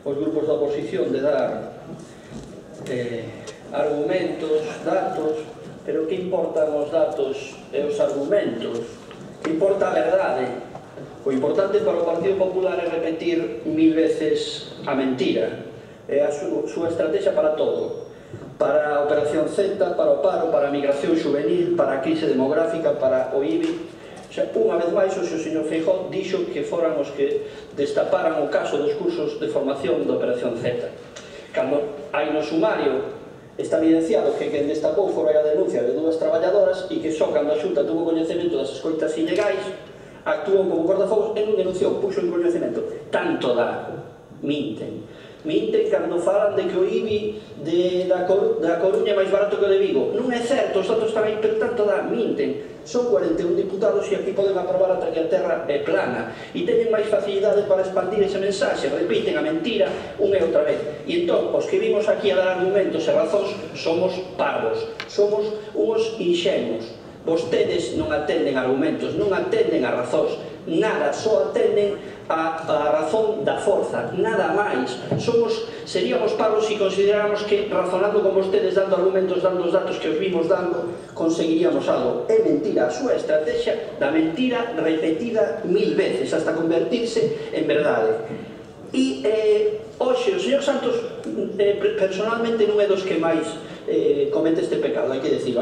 os grupos da oposición de dar argumentos, datos, pero que importan os datos e os argumentos? Que importa a verdade? O importante para o Partido Popular é repetir 1000 veces a mentira. É a súa estrategia para todo. Para a Operación Z, para o paro, para a migración juvenil, para a crise demográfica, para o IBI. Unha vez máis, o señor Feijóo dixo que foran os que destaparan o caso dos cursos de formación da Operación Z. Cando hai no sumario está evidenciado que quen destapou fora a denuncia de 2 traballadoras e que só cando a Xunta tuvo coñecemento das escoitas ilegais actuou como cortafogos e non denunciou, puxo en coñecemento. Tanto dá, minten. Minten cando falan de que o IBI da Coruña é máis barato que o de Vigo. Non é certo, os datos están aí, pero tanto dá, minten. Son 41 diputados e aquí poden aprobar ata que a terra é plana. E teñen máis facilidade para expandir ese mensaxe, repiten a mentira unha e outra vez. E entón, os que vimos aquí a dar argumentos e razóns somos parvos, somos uns inxenuos. Vostedes non atenden argumentos, non atenden a razóns, nada, só atenden a razón da forza, nada máis. Seríamos parvos se consideráramos que razonando con vostedes, dando argumentos, dando os datos que os vimos dando, conseguiríamos algo. É mentira, a súa estrategia da mentira repetida 1000 veces, hasta convertirse en verdade. E hoxe o señor Santos personalmente non é dos que máis comete este pecado, hai que decirlo.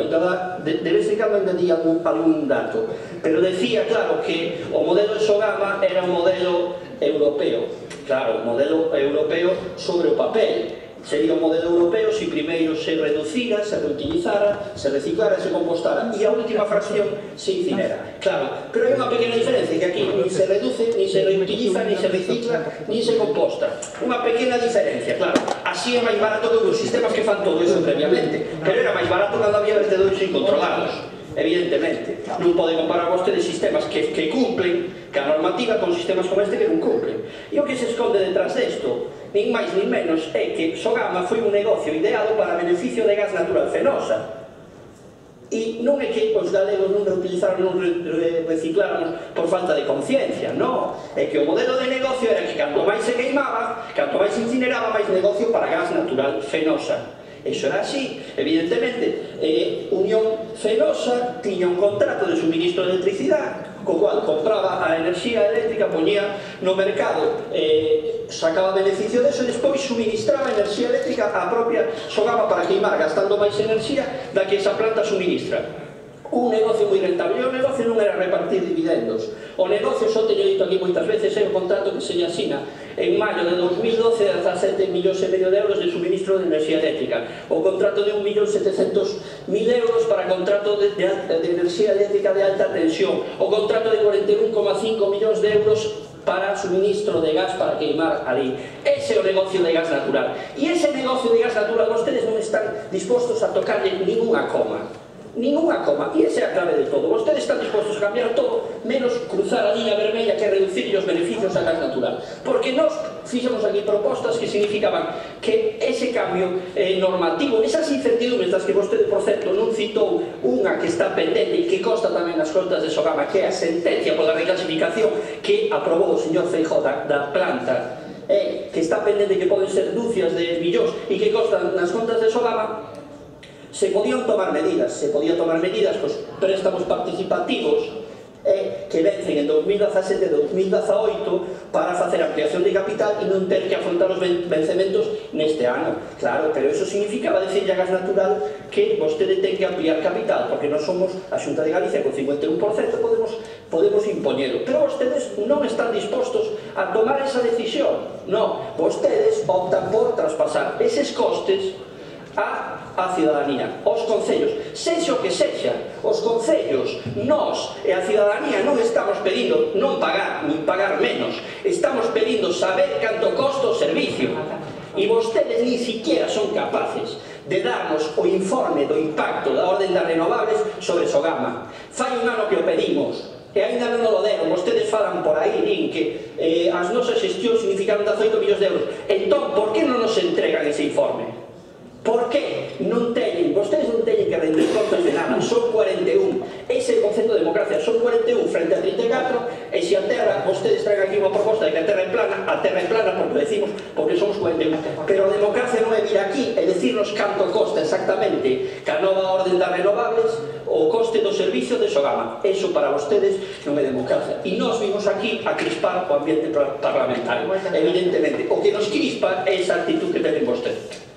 De vez en cando ainda di algún dato, pero decía, claro, que o modelo de Sogama era un modelo europeo. Claro, un modelo europeo sobre o papel. Sería un modelo europeo se primeiro se reducira, se reutilizara, se reciclara e se compostara, e a última fracción se incinera. Claro, pero hai unha pequena diferencia, que aquí ni se reduce, ni se reutiliza, ni se recicla, ni se composta. Unha pequena diferencia, claro. Así é máis barato que os sistemas que fan todo eso previamente, pero era máis barato cando había vertedores incontrolados. Evidentemente, non poden comparar vostedes sistemas que cumplen que a normativa con sistemas como este que non cumplen. E o que se esconde detrás desto, nin máis nin menos, é que Sogama foi un negocio ideado para beneficio de gas natural Fenosa. E non é que os galegos non reutilizaron, non recicláramos por falta de conciencia, non. É que o modelo de negocio era que canto máis se queimaba, canto máis se incineraba, máis negocio para gas natural Fenosa. Eso era así, evidentemente. Unión Fenosa tiña un contrato de suministro de electricidade, co cual compraba a enerxía eléctrica, poñía no mercado, sacaba beneficio deso e despois suministraba enerxía eléctrica á propia Sogama para queimar, gastando máis enerxía da que esa planta suministra. Un negocio moi rentable. O negocio non era repartir dividendos. O negocio, só teño dito aquí moitas veces, é o contrato que se lle asina en maio de 2012 a 17,5 millóns de euros de suministro de enerxía eléctrica. O contrato de 1.700.000 euros para contrato de enerxía eléctrica de alta tensión. O contrato de 41,5 millóns de euros para suministro de gas para queimar ali. Ese é o negocio de gas natural. E ese negocio de gas natural vostedes non están dispostos a tocarle ninguna coma. Ninguna coma, e esa é a clave de todo. Vostedes están dispostos a cambiar todo menos cruzar a liña vermella que é reducir os beneficios a gas natural, porque nós fixemos aquí propostas que significaban que ese cambio normativo, esas incertidumbres das que vostede, por certo, non citou unha que está pendente e que consta tamén nas contas de Sogama, que é a sentencia pola reclasificación que aprobou o señor Feijóo da planta, que está pendente, que poden ser dúcias de millóns e que constan nas contas de Sogama. Se podían tomar medidas, cos préstamos participativos que vencen en 2017 e 2018 para facer ampliación de capital e non ter que afrontar os vencimentos neste ano. Claro, pero eso significaba decirlle a Gas Natural que vostede ten que ampliar capital, porque non somos a Xunta de Galicia con 51%, podemos impoñelo. Pero vostedes non están dispostos a tomar esa decisión. Non, vostedes optan por traspasar eses costes a cidadanía, aos concellos, sexa o que sexa. Os concellos, nós e a cidadanía non estamos pedindo non pagar, nin pagar menos, estamos pedindo saber canto costa o servicio, e vostedes ni siquiera son capaces de darnos o informe do impacto da orden das renovables sobre Sogama. Fai un ano que o pedimos e ainda non o deron. Vostedes falan por aí, din que as nosas xestións significaron 18 millóns de euros. Entón, por que non nos entregan ese informe? Por que non teñen, vostedes non teñen que rendir contas de nada, son 41, ese é o concepto de democracia, son 41 frente a 34, e se a Terra, vostedes traen aquí unha proposta de que a Terra é plana porque decimos, porque somos 41, pero a democracia non é vir aquí e decirnos canto costa exactamente ca nova orden das renovables o coste do servicio de Sogama. Eso para vostedes non é democracia, e nós vimos aquí a crispar o ambiente parlamentario. Evidentemente, o que nos crispa é esa actitud que teñen vostedes.